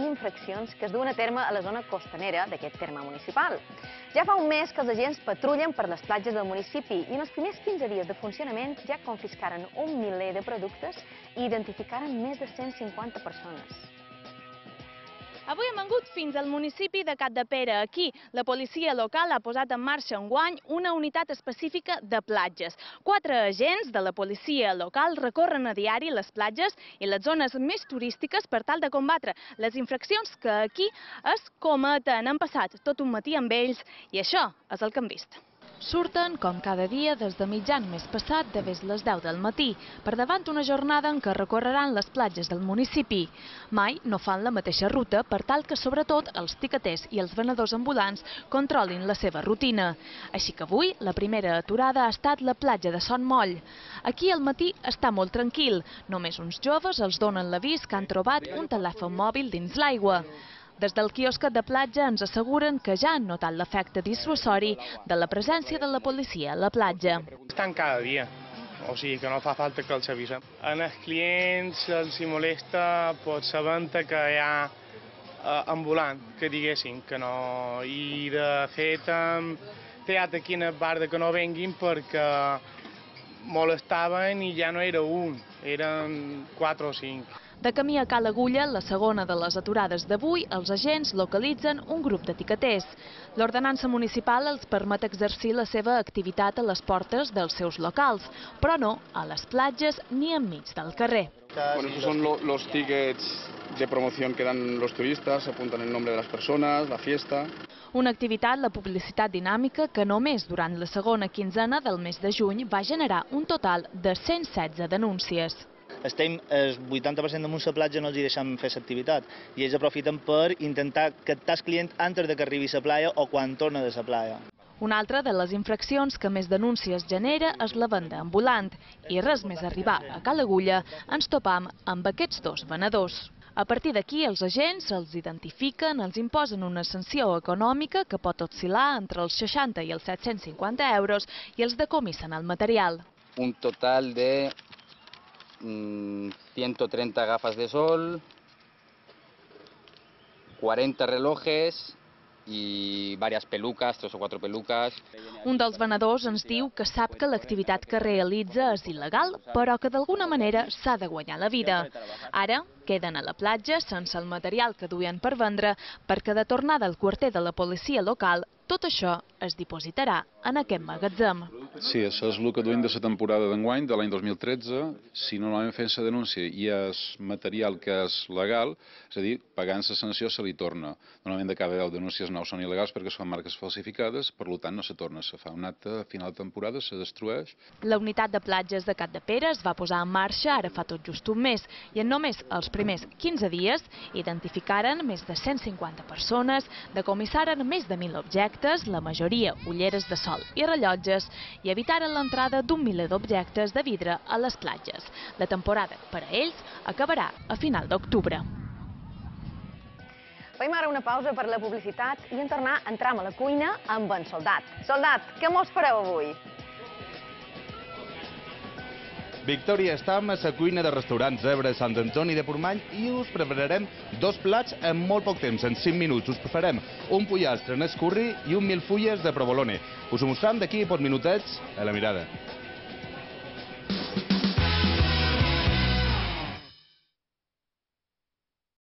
infraccions que es duen a terme a la zona costanera d'aquest terme municipal. Ja fa un mes que els agents patrullen per les platges del municipi i en els primers 15 dies de funcionament ja confiscaren un miler de productes i identificaren més de 150 persones. Avui hem vengut fins al municipi de Capdepera. Aquí, la policia local ha posat en marxa enguany una unitat específica de platges. 4 agents de la policia local recorren a diari les platges i les zones més turístiques per tal de combatre les infraccions que aquí es cometen. Han passat tot un matí amb ells i això és el que hem vist. Surten, com cada dia, des de mitjan mes passat, de les 10 del matí, per davant una jornada en què recorreran les platges del municipi. Mai no fan la mateixa ruta per tal que, sobretot, els tiqueters i els venedors ambulants controlin la seva rutina. Així que avui, la primera aturada ha estat la platja de Son Moll. Aquí el matí està molt tranquil. Només uns joves els donen l'avís que han trobat un telèfon mòbil dins l'aigua. Des del quiosquet de platja ens asseguren que ja han notat l'efecte dissuasori de la presència de la policia a la platja. Estan cada dia, o sigui que no fa falta que els avisem. Els clients els molesta sabent que hi ha ambulant, que diguessin que no. I de fet hem triat aquí en el bar que no venguin perquè molestaven i ja no era un, eren 4 o 5. De camí a Cal Agulla, la segona de les aturades d'avui, els agents localitzen un grup d'etiqueters. L'ordenança municipal els permet exercir la seva activitat a les portes dels seus locals, però no a les platges ni enmig del carrer. Bueno, esos son los tickets de promoción que dan los turistas, apuntan el nombre de las personas, la fiesta. Una activitat, la publicitat dinàmica, que només durant la segona quinzena del mes de juny va generar un total de 116 denúncies. Estem el 80% damunt la platja, no els deixem fer l'activitat i ells aprofiten per intentar captar el client antes que arribi a la platja o quan torna de la platja. Una altra de les infraccions que més denúncies genera és la venda ambulant i res més arribar a Cal Agulla ens topam amb aquests 2 venedors. A partir d'aquí, els agents els identifiquen, els imposen una sanció econòmica que pot oscil·lar entre els 60 i els 750 euros i els decomissen el material. Un total de 130 gafas de sol, 40 relojes y varias pelucas, 3 o 4 pelucas. Un dels venedors ens diu que sap que l'activitat que realitza és il·legal, però que d'alguna manera s'ha de guanyar la vida. Ara queden a la platja sense el material que duien per vendre perquè de tornada al quarter de la policia local tot això es dipositarà en aquest magatzem. Sí, això és el que duim de la temporada d'enguany, de l'any 2013. Si normalment fent la denúncia i és material que és legal, és a dir, pagant la sanció se li torna. Normalment de cada 10 denúncies 9 són il·legals perquè són marques falsificades, per tant no se torna, se fa un acte a final de temporada, se destrueix. La unitat de platges de Capdepera es va posar en marxa ara fa tot just un mes i en només els primers 15 dies identificaren més de 150 persones, decomissaren més de 1.000 objectes, la majoria ulleres de sol i rellotges, i evitaren l'entrada d'un miler d'objectes de vidre a les platges. La temporada, per a ells, acabarà a final d'octubre. Fem ara una pausa per la publicitat i en tornar entrem a la cuina amb en Soldat. Soldat, què mos fareu avui? Victòria, estem a la cuina del restaurant Zebra Sant Antoni de Portmany i us prepararem 2 plats en molt poc temps, en 5 minuts. Us farem un pollastre en escurri i un milfulles de provolone. Us ho mostrem d'aquí a pocs minutets a la mirada.